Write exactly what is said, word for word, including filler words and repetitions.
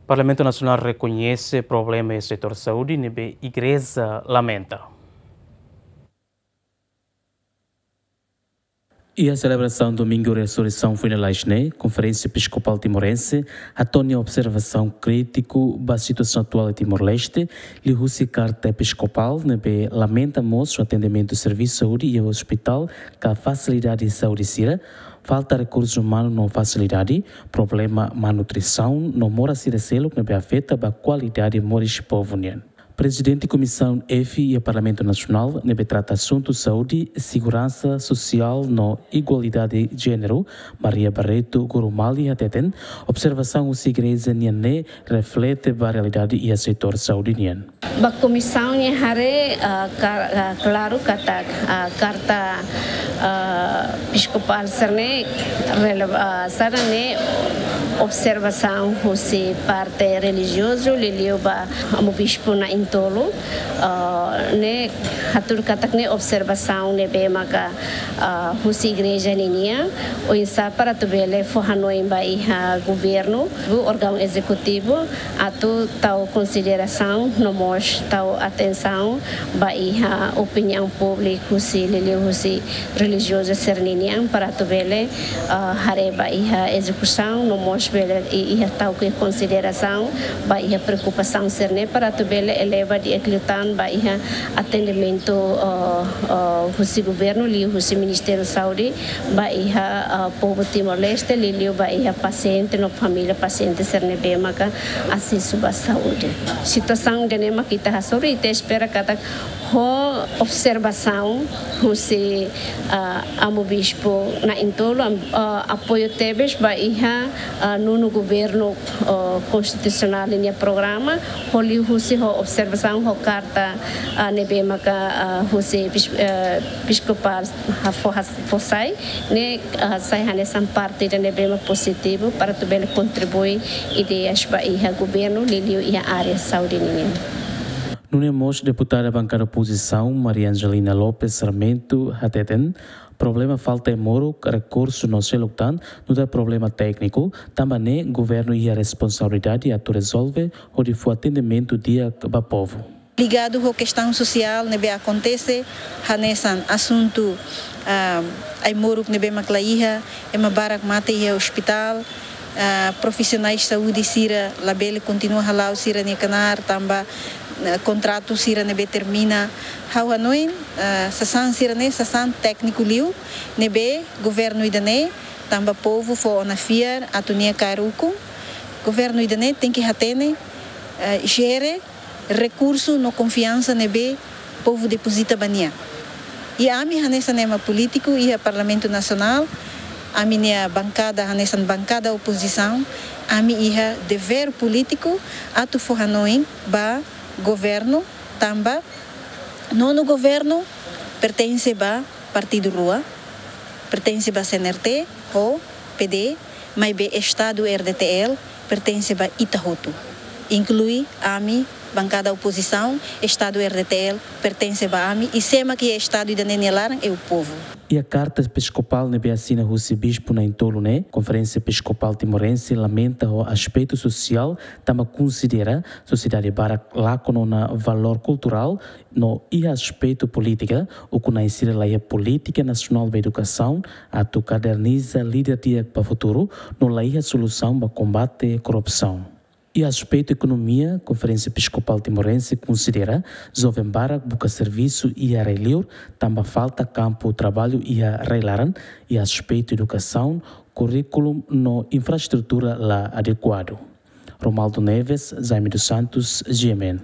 Parlamentu Nasionál rekoñese problema iha setór saúde ne'ebé Igreja lamenta. Iha selebrasaun Domingu Resureisaun foin lalais ne'e, Konferénsia Episkopál Timorense hato'o nia observasaun krítiku ba situasaun atuál iha Timor-Leste, liuhusi karta episkopál ne'ebé lamenta mós atendimentu servisu saúde iha ospitál ka fasilidade saúde sira, falta rekursu umanu no fasilidade, problema malnutrisaun no moras sira seluk ne'ebé afeta ba kualidade moris povu nian. Prezidente Komisaun F iha Parlamentu Nasionál ne'ebé trata asuntu saúde, seguransa sosiál no igualdade jéneru, Maria Barreto Gurumali hateten, observasaun husi Igreja nian ne'e reflete ba realidade iha setór saúde nian. Ba komisaun nia haree, ah, ka-, ah, klaru katak, ah, karta, ah, episkopál sira-ne'e rele-, ah, sira-ne'e observasaun husi parte relijiozu, liuliu ba Amu Bispu na'in-tolu, ah, ne'e hatudu katak ne'e observasaun ne'ebé maka, ah, husi Igreja ninian, oinsá para atu bele fó hanoin ba iha governu, órgaun ezekutivu, atu tau konsiderasaun no mós tau atensaun ba iha opiniaun públiku husi, liuliu husi relijiozu sira-ninian para atu bele, ah, haree ba iha ezekusaun no mós bele i-, iha tau ke konsiderasaun ba iha preokupasaun sira-ne'e para atu bele eleva di'ak liután ba iha atendimentu, ah, ah, husi governu liuhusi Ministériu Saúde ba iha, ah, povu Timor-Leste, liuliu ba iha pasiente no família pasiente sira ne'ebé maka asesu ba saúde. Situasaun ida-ne'e mak ita hasoru, ita espera katak ho observasaun husi, ah, Amu Bispu na'in-tolu, am-, ah, apoiu tebes ba iha, ah, nonu governu, ah, konstitusionál nia programa, ho liuhusi ho observasaun ho karta, ah, ne'ebé maka, ah, husi epis-, ah, episkopál ha-, fó has-, fó sai, ne'e, ah, sai hanesan parte ida ne'ebé mak pozitivu para atu bele kontribui ideias ba iha governu, liuliu iha área saúde ninian. Nune'e mós deputada bankada opozisaun Maria Angelina Lopes Sarmento hateten, problema falta ai-moruk, rekursu no seluk tan, nu'udar problema tékniku, tanba ne'e governu iha responsabilidade atu rezolve, hodi fó atendimentu di'ak ba povu. Ligadu ho kestaun sosiál ne'ebé akontese, hanesan asuntu, ah, ai-moruk ne'ebé mak la iha, ema barak mate iha ospitál, ah, profisionais saúde sira labele kontinua hala'o sira-nia knaar tanba, ah, kontratu sira ne'ebé termina. Ha'u hanoin, ah, sasán sira-ne'e sasán tékniku liu, ne'ebé governu ida-ne'e, tanba povu fó ona fiar atu nia kaer ukun, governu ida-ne'e tenke hatene, ah, jere rekursu no konfiansa ne'ebé povu depozita ba nia. I ami hanesan ema polítiku iha Parlamentu Nasionál, ami-nia bankada hanesan bankada opozisaun, ami iha devér polítiku atu fó hanoin ba governu tanba nonu governu pertense ba partidu rua, pertense ba C N R T ho P D, maibé Estadu R D T L pertense ba ita hotu. Inklui ami, bankada opozisaun, Estadu R D T L pertense ba ami, i sé mak iha Estadu ida-ne'e nia laran é o povo. Iha karta episkopál ne'ebé asina husi Bispu na'in-tolu ne'e, Konferénsia Episkopál Timorense lamenta ho aspetu sosiál, tanba konsidera sosiedade barak lakon ona valór kulturál, no iha aspetu polítika, ukun-na'in sira la iha polítika nasionál ba edukasaun, atu kaderniza líder di'ak ba futuru, no la iha solusaun ba kombate korrupsaun. Iha aspetu ekonomia, Konferénsia Episkopál Timorense konsidera joven barak buka servisu iha rai-liur, tanba falta kampu traballu iha rai-laran, iha aspetu edukasaun, kurríkulu no infraestrutura la adekuadu. Romaldo Neves, Jaime dos Santos, G M N.